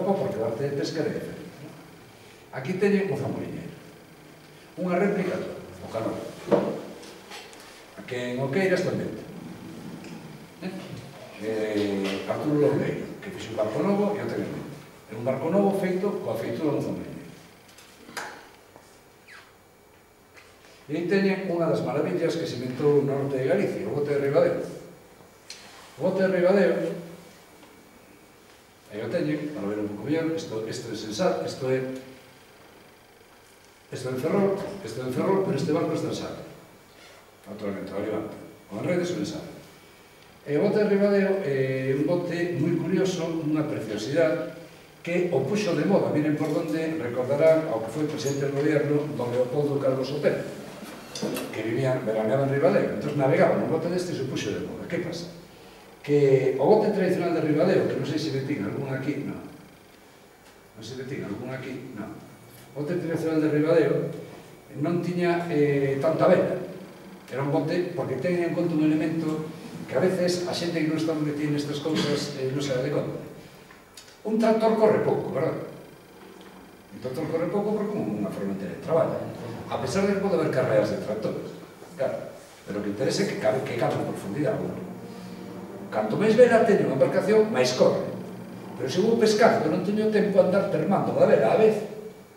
porque o arte de pesca é diferente. Aquí teñen o zamoriñeiro, unha réplica toda, o calor. Que en Oqueiras tamén. Arturo Loureiro, que fixe un barco novo e o ten en medio. É un barco novo feito coa feitura do zamoriñeiro. E aí teñen unha das maravillas que se inventou no norte de Galicia, o bote de Ribadeo. O bote de Ribadeo, aí o teñen, para ver un pouco mellor, isto é sensal, isto é en Ferrol, pero este barco está en sal. Naturalmente, o Levante. O en redes o en sal. E o bote de Ribadeo é un bote moi curioso, unha preciosidade, que o puxo de moda. Miren por donde recordarán ao que foi presidente do goberno don Leopoldo Calvo Sotelo, que veraneaba en Ribadeo. Entón navegaban un bote deste e se puxo de moda. Que pasa? Que o bote tradicional de Ribadeo, que non sei se vetín algún aquí, non. Non sei se vetín algún aquí, non. O bote tradicional de Ribadeo non tiña tanta vela. Era un bote, porque ten en conta un elemento que a veces a xente que non está metida nestas cousas non se dá de conta. Un tractor corre pouco, verdad? Un tractor corre pouco porque é unha ferramenta de traballo. A pesar de que pode haber carreras de tractores, claro, pero o que interesa é que cabe en profundidade. Canto máis vela teño unha embarcación, máis corre. Pero se vou pescar, que non teño tempo a andar termando da vela a vez,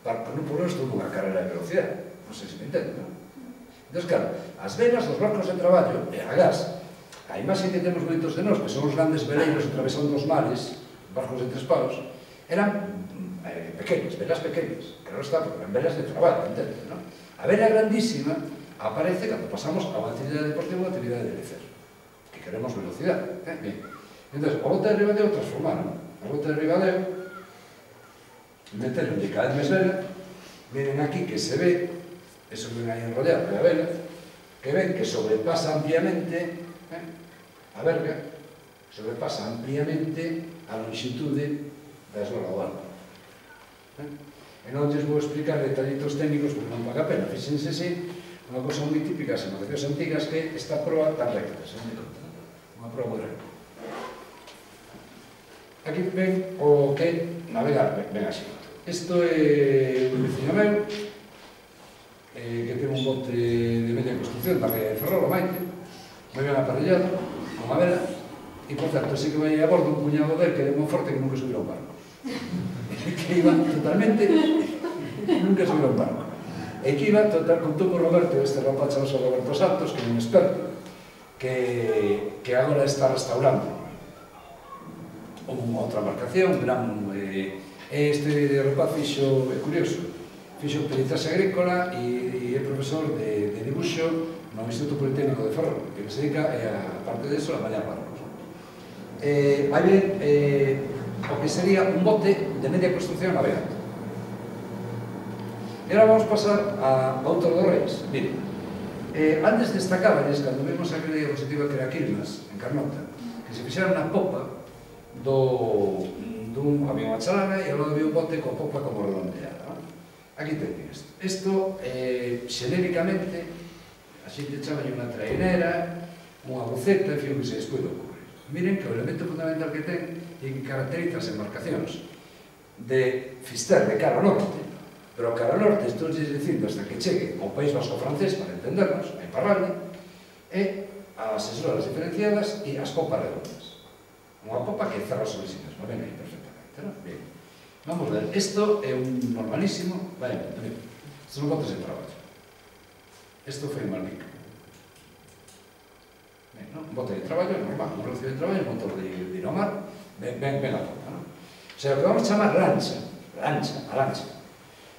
para non poner isto nunha carrera de velocidade. Non sei se me entende, non? Entón, claro, as velas dos barcos de traballo e a gas, a imaxe que temos moitos de nós, que son os grandes veleiros atravesando os mares, barcos de 3 paus, eran pequenas, velas pequenas, que non está, porque eran velas de traballo, entende, non? A vela grandísima aparece cando pasamos a unha actividade deportiva ou a actividade de lecer, que queremos velocidade, bien. Entón, o bote de Ribadeo transformaron, o bote de Ribadeo, meteron de cada vez máis vela, miren aquí que se ve, eso ven aí enrollado a vela, que ven que sobrepasa ampliamente a verga, sobrepasa ampliamente a longitude da eslola do barco. E non lles vou explicar detallitos técnicos porque non paga a pena. Fíxense si, unha cosa moi típica das embarcacións antigas que esta proa tan recta, se non me conta, unha proa moi recta. Aquí ven o que navegar, ven así. Isto é un veciño meu, que ten un bote de media construcción, tamén de Ferrol, o Maite, moi ben aparellado, con a vela, e, por certo, sí que vai a bordo un cuñado del que é moi forte que nunca subirá un barco. Que iba totalmente, nunca subirá un barco. E que iba, contou con Roberto, este rapaz chamado Roberto Santos, que é un experto, que agora está restaurando unha outra embarcación, este rapaz fixo, é curioso, fixo peritaxe agrícola e é profesor de dibuixo no Instituto Politécnico de Ferrol, que se dedica, a parte de eso, a bañar barcos. Vai ver o que sería un bote de media construcción navegante. E agora vamos pasar a Outor dos Reis. Mire, antes destacábales, cando vimos aquela diapositiva que era Quilmas, en Carnota, que se fixeran na popa dun avión a chalana e ao lado había un bote coa popa como redondeada. Aquí teñen isto. Isto, xenéricamente, a xente chama unha trainera, unha buceta, en fin, o que se despois de ocurrir. Miren que o elemento fundamental que ten é que caracteriza as embarcacións de Fister de cara ao norte, pero cara ao norte estou dicindo hasta que chegue ao País Vasco francés, para entendernos, a Iparralde, e as esloras diferenciadas e as popas redondas. Unha popa que cerra sobre si mesma, ven aí perfectamente, non? Bien. Vamos ver, isto é un normalísimo, vale, isto son botes de traballo. Isto foi un Malpica. Un bote de traballo normal, un relacio de traballo, un motor de dinamar, ven a popa, non? O sea, o que vamos chamar lancha, a lancha.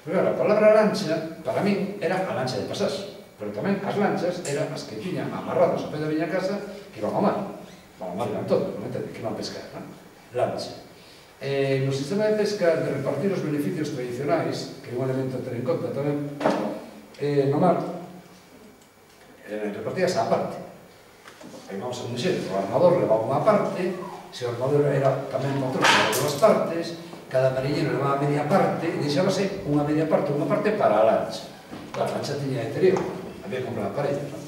Pero claro, a palabra lancha, para mí, era a lancha de pasaxe, pero tamén as lanchas eran as que tiñan amarrados a pé da miña casa que iban ao mar. Van ao mar iban todo, non entende? Que iban a pescar, non? Lancha. No sistema de pesca, de repartir os beneficios tradicionais, que é un elemento a ter en conta tamén, no mar, repartías a parte. Aí vamos a un exemplo, o armador levaba unha parte, se o armador era tamén patrón de dúas partes, cada mariñero levaba media parte, e deixábase unha media parte, unha parte para a lancha. A lancha tiña interior, había que comprar a parella, non?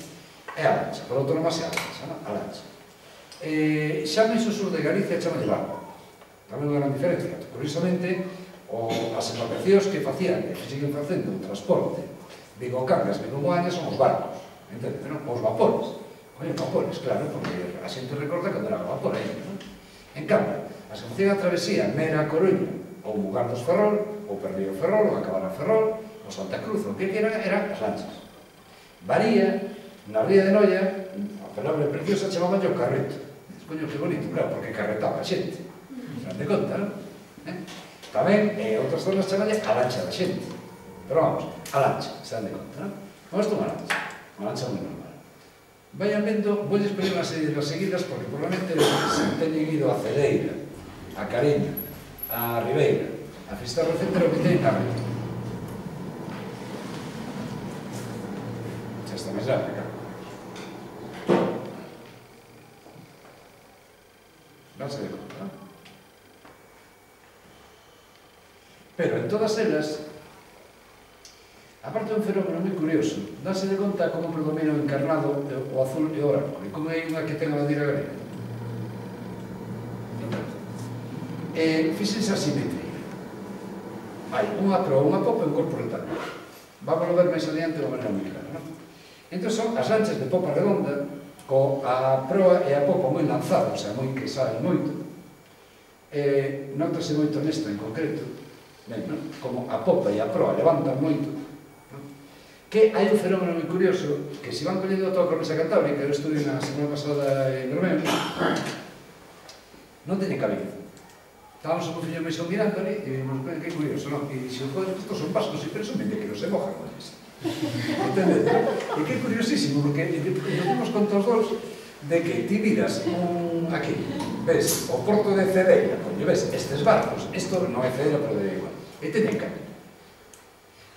É a lancha, por outro nomás é a lancha, non? A lancha. Xa máis o sur de Galicia chama de barco. tamén unha gran diferencia. Curiosamente, as embarcacións que facían, que siguen facendo o transporte Vigo-Cangas, Vigo-Moaña son os barcos, entende, non? Os vapores. Oye, vapores, claro, porque a xente recorda cando era vapor aí, non? En cambio, as que facían a travesía Mera a Coruña, ou Mugar dos Ferrol, ou Perdido Ferrol, ou Acabar a Ferrol, ou Santa Cruz, o que eran as lanchas. Varía, na ría de Noia, a palabra preciosa chamaban o carreto. Coño, que bonito, claro, porque carretaba a xente. Non te conta, non? Tamén, outras zonas chamalle a lancha da xente. Pero vamos, a lancha, se dan de conta, non? Vamos tomar unha lancha moi normal. Vayan vendo, vou poñer unha serie de las seguidas, porque probablemente se teñen ido a Cedeira, a Cariño, a Ribeira, a Fisterra, etcétera, o que teñen na ría. Xa está máis larga, claro. Danse de conta, non? Pero en todas elas, aparte de un fenómeno moi curioso, danse de conta como predomina o encarnado, o azul e o branco, e como hai unha que ten a bandeira galega. Fíxense a simetría. Hai unha proa, unha popa e un corpo rectangular. Vamos a ver máis adiante de unha maneira moi clara, non? Entón son as lanchas de popa redonda, a proa e a popa moi lanzadas, o sea, moi que saben moito. Nótase moito nesta en concreto, como a popa e a proa levantan moito, que hai un fenómeno moi curioso, que se van collendo toda a cornisa cantábrica, eu estudio na semana pasada en Bermeo, non teñen cabeza. Estábamos o meu fillo máis mirando ali, e vimos, que curioso, non? E dixo, joder, estos son vascos, e presumen de que non se mojan, non? Entended? E que curiosísimo, porque nos dimos conta os dos de que ti miras aquí, ves o porto de Cedeira, coño, ves estes barcos, isto non é Cedeira, pero de igual, e teñen cabina.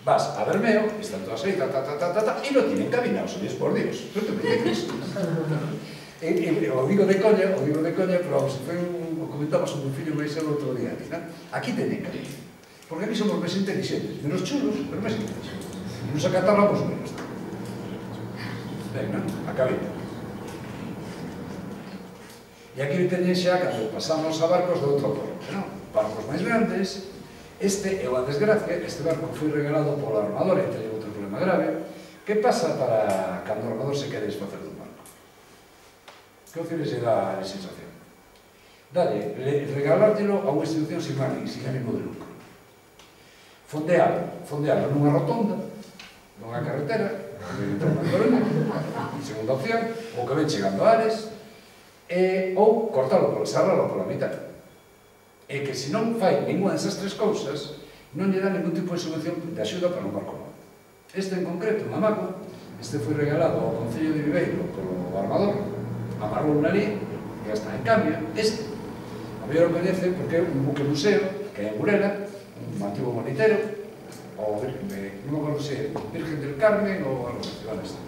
Vas a Bermeo, están todas aí, e non tienen cabina, os ollos por Dios, non te metes. O digo de coña, pero vamos, o comentamos con un fillo máis el outro día, aquí teñen cabina, porque aquí somos máis inteligentes, menos chulos, pero máis inteligentes. Nos acatábamos menos. Ben, non? A cabina. E aquí teñen xa, cando pasamos a barcos de outro porto, non? Barcos máis grandes. Este é unha desgracia, este barco foi regalado polo armador e teñen outro problema grave. Que pasa para cando o armador se quere desfacer dun barco? Que opciones lle dá a legislación? Dalle, regalártelo a unha institución sin ánimo de lucro. Fondealo nunha rotonda, nunha carretera, segunda opción, ou que ven chegando a Ares, ou cortalo, sarralo pola mitad. E que se non fai ninguna desas tres cousas, non lle dá ningún tipo de subvención de axuda para un barco novo. Este en concreto, unha mágoa, este foi regalado ao Concello de Viveiro polo armador, amarrou unha lei, e hasta en cambio, este, a mellor o coñece porque é un buque museo, que é en Burela, un antigo monitero, ou non me acordo se Virgen del Carmen ou algo así.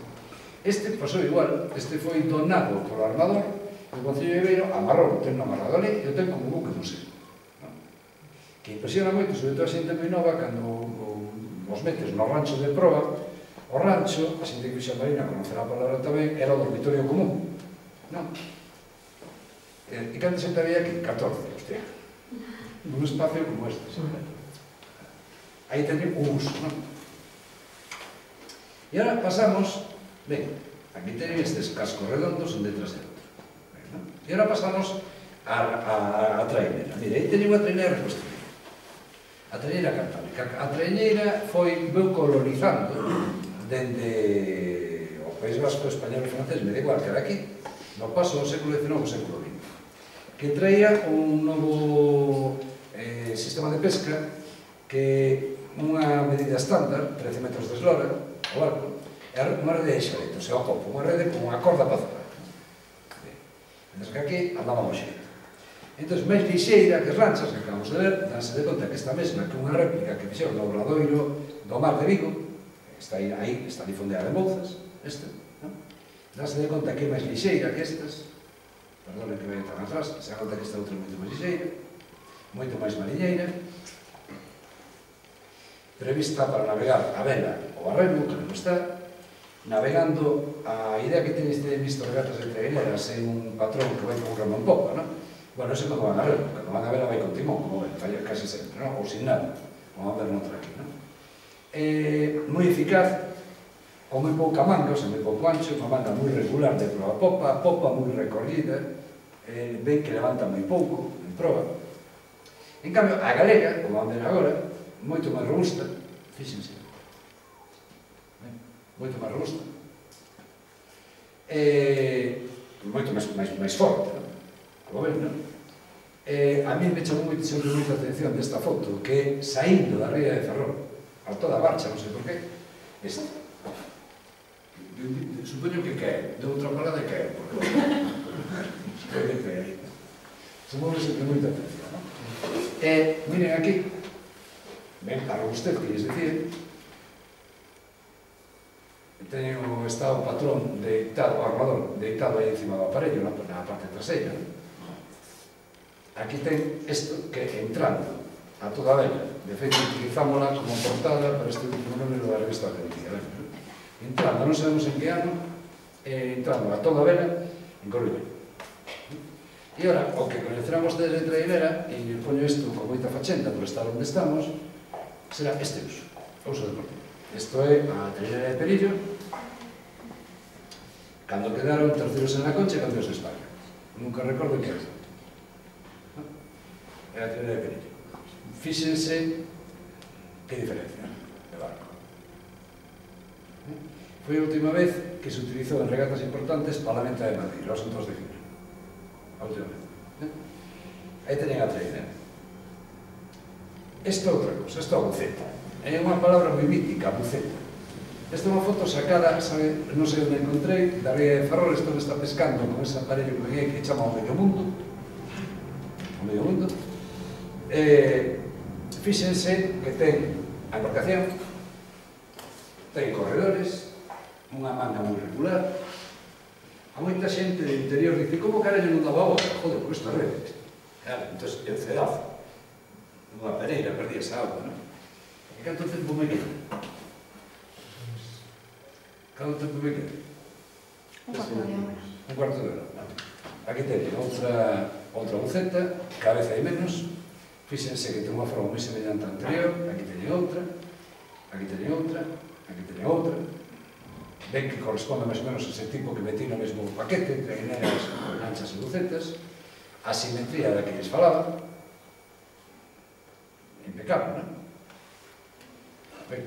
Este pasou igual, este foi donado polo armador, o Concello de Viveiro amarrou, ten amarrado ali, e o ten como buque museo. Que impresiona moito, sobre todo a xente moi nova, cando os metes no rancho de proa, o rancho, a xente que xa marina conocerá a palabra tamén, era o dormitorio común. Non? E cando xente había aquí? 14, hostia. Un espacio como este. Aí teñen un uso, non? E agora pasamos, ben, aquí teñen estes cascos redondos un detrás de outro. E agora pasamos a traineira. Mira, aí teñen unha traineira reconstruída. A traineira cantábrica. A traineira veu colonizando dende o País Vasco, español e francés, me da igual que era aquí, no paso do século XIX ao século XX, que traía un novo sistema de pesca que unha medida estándar, 13 metros de eslora, o barco, é unha rede de xaretos, é o copo, unha rede con unha corda para zoar. Mentre que aquí andábamos xeito. Entón, máis lixeira que as lanchas que acabamos de ver, danse de conta que esta mesma que unha réplica que fixeron no Obradoiro do Mar de Vigo, está aí fondeada en Bouzas, danse de conta que é máis lixeira que estas, perdonen que vai tan atrás, se dan conta que esta outra é moito máis lixeira, moito máis mariñeira, prevista para navegar a vela ou a remo, que non está, navegando, a idea que tenes de visto regatas de traineras é un patrón que vai con un remo en popa, non? Bueno, eso cando van a ver, cando van a ver vai con timón, como ven, falla casi sempre, non? Ou sin nada, como van a ver noutra aquí, non? Moi eficaz, con moi pouca manga, o sea, moi pouco ancho, unha manga moi regular de proa popa, popa moi recorrida, ven que levanta moi pouco en proa. En cambio, a galega, como van ver agora, moito máis robusta, fíxense, moito máis robusta, moito máis forte, non? Como ven, non? A mí me chamou sempre moita atención desta foto, que saindo da ría de Ferrol, a toda marcha, non sei por qué, esta. Supoño que cae, de outra parada e cae, porque pode caer. Chamou sempre moita atención, non? Miren aquí, ven a robustez que lles decía, está o patrón deitado, o armador deitado aí encima do aparello, na parte traseira. Aquí ten isto que entrando a toda vela, de feito utilizámola como portada para este último número da revista Argentina. Entrando, non sabemos en que ano, entrando a toda vela en Coruña. E ora, o que coñecerán vostedes de trailera, e poño isto con moita fachenda por estar onde estamos, será este uso deportivo. Isto é a trailera de Perillo, cando quedaron terceros en la Concha e campeóns de España. Nunca recordo que era. É a trailera de Perillo. Fíxense que diferencia de barco. Foi a última vez que se utilizou en regatas importantes para la Menta de Madrid, los Santos de Fina. A última vez. Aí teñen a trailera. Esta é outra cosa, esta é a buceta. É unha palabra moi mítica, buceta. Esta é unha foto sacada, sabe, non sei onde encontrei, da ría de Ferrol, isto que está pescando con ese aparello que chama o medio mundo. O medio mundo. Fíxense que ten a embarcación, ten corredores, unha manga moi regular. A moita xente do interior dice, como carallo non daba agua? Joder, por esta rede. Claro, entón, é un cedazo. Unha pereira, perdí esa agua, non? E canto tempo me queda? Canto tempo me queda? Un cuarto de hora. Un cuarto de hora. Aquí teñen outra buceta, cada vez hai menos. Fíxense que ten unha forma moi semellante á anterior. Aquí teñen outra, aquí teñen outra, aquí teñen outra. Ven que corresponde máis ou menos a ese tipo que metí no mesmo paquete, traineras, lanchas e bucetas. A simetría da que lles falaba. Impecable, non? Ben.